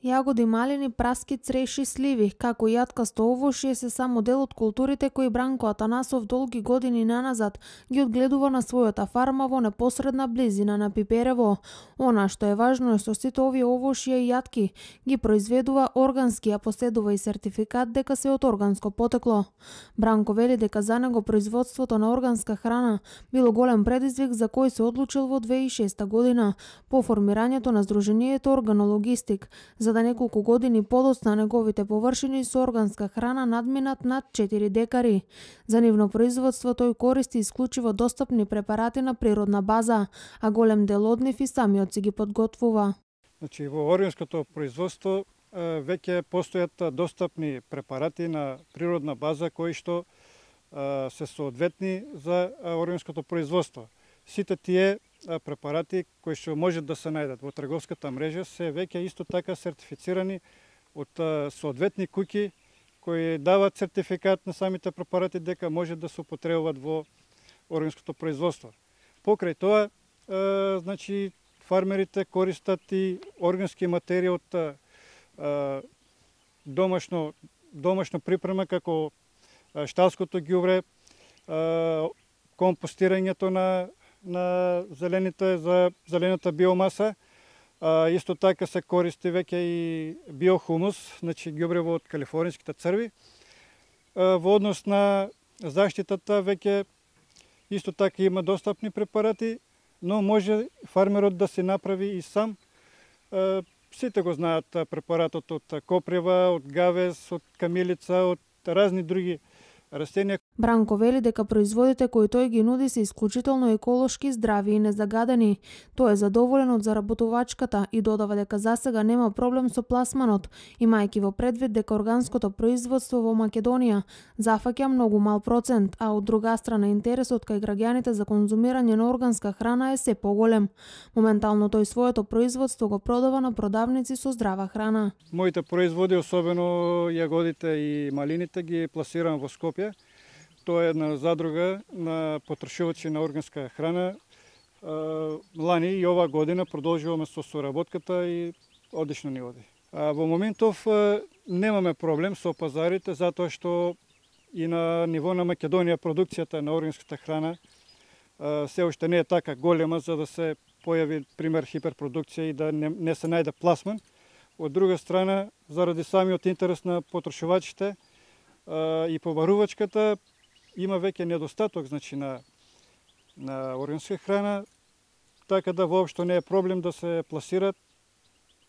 Јагоди, малини, праски, цреши, сливи, како и јаткасто овошје се само дел од културите кои Бранко Атанасов долги години наназад ги одгледува на својата фарма во непосредна близина на Пиперево. Она што е важно е што сите овие овошје и јатки ги произведува органски, а поседува и сертификат дека се од органско потекло. Бранко вели дека за него производството на органска храна било голем предизвик за кој се одлучил во 2006 година по формирањето на Сдруженијето Органологистик, за да неколку години подоцна неговите површини со органска храна надминат над 4 декари. За нивно производство тој користи исклучиво достапни препарати на природна база, а голем дел од нив и самиот си ги подготвува. Значи, во органското производство веќе постојат достапни препарати на природна база кои што се соодветни за органското производство. Сите тие препарати кои што можат да се најдат во трговската мрежа се веќе исто така сертифицирани од соодветни куќи кои дават сертификат на самите препарати дека може да се употребуваат во органското производство. Покрај тоа, значи, фармерите користат и органски материи од домашно припрема како шталското ѓубре, компостирањето на зелената биомаса. Исто така се користи веќе и биохумус, значи ѓубрево од калифорниските црви. Во однос на заштитата веќе исто така има достапни препарати, но може фармерот да се направи и сам. Сите го знаат препаратот од копрева, од гавез, од камилица, од разни други растенија. Бранко вели дека производите кои тој ги нуди се исклучително еколошки, здрави и незагадени. Тој е задоволен од заработувачката и додава дека засега нема проблем со пласманот, имајќи во предвид дека органското производство во Македонија зафаќа многу мал процент, а од друга страна интересот кај граѓаните за конзумирање на органска храна е се поголем. Моментално тој своето производство го продава на продавници со здрава храна. Моите производи, особено јагодите и малините, ги пласирам во Скопје. Тоа е една задруга на потрошувачи на органска храна. Лани и ова година продолжуваме со соработката и одлично ни оди. Во моментов немаме проблем со пазарите, затоа што и на ниво на Македонија продукцијата на органската храна се уште не е така голема за да се појави пример хиперпродукција и да не се најде пласман. Од друга страна, заради самиот интерес на потрошувачите и побарувачката, има веќе недостаток, значи, на органска храна, така да воопшто не е проблем да се пласират,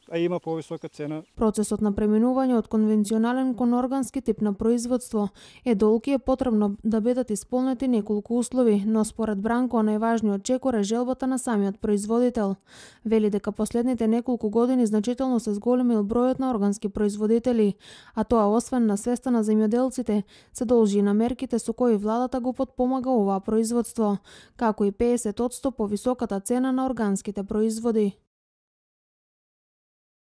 а има повисока цена. Процесот на преминување од конвенционален кон органски тип на производство е долг и е потребно да бидат исполнети неколку услови, но според Бранко најважниот чекор е желбата на самиот производител. Вели дека последните неколку години значително се зголемил бројот на органски производители, а тоа освен на свеста на земјоделците, се должи и на мерките со кои владата го потпомага оваа производство, како и 50% повисоката цена на органските производи.